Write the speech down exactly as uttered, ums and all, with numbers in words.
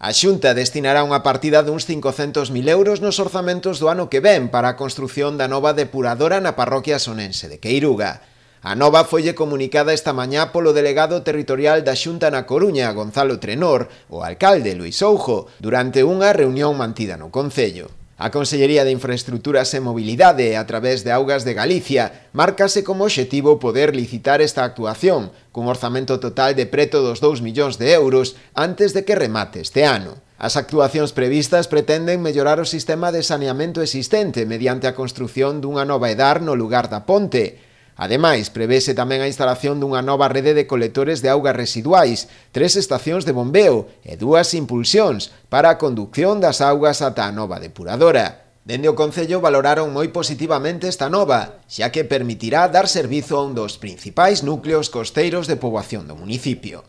A Xunta destinará unha partida duns cincocentos mil euros nos orzamentos do ano que ven para a construción da nova depuradora na parroquia sonense de Queiruga. A nova foille comunicada esta mañá polo delegado territorial da Xunta na Coruña, Gonzalo Trenor, o alcalde Luís Soujo, durante unha reunión mantida no concello. A Consellería de Infraestructuras e Mobilidade, a través de Augas de Galicia, márcase como obxectivo poder licitar esta actuación, cun orzamento total de preto dos dous millóns de euros antes de que remate este ano. As actuacións previstas pretenden mellorar o sistema de saneamento existente mediante a construción dunha nova edar no lugar da ponte. Ademais, prevese tamén a instalación dunha nova rede de colectores de augas residuais, tres estacións de bombeo e dúas impulsións para a conducción das augas ata a nova depuradora. Dende o Concello valoraron moi positivamente esta nova, xa que permitirá dar servizo a un dos principais núcleos costeiros de poboación do municipio.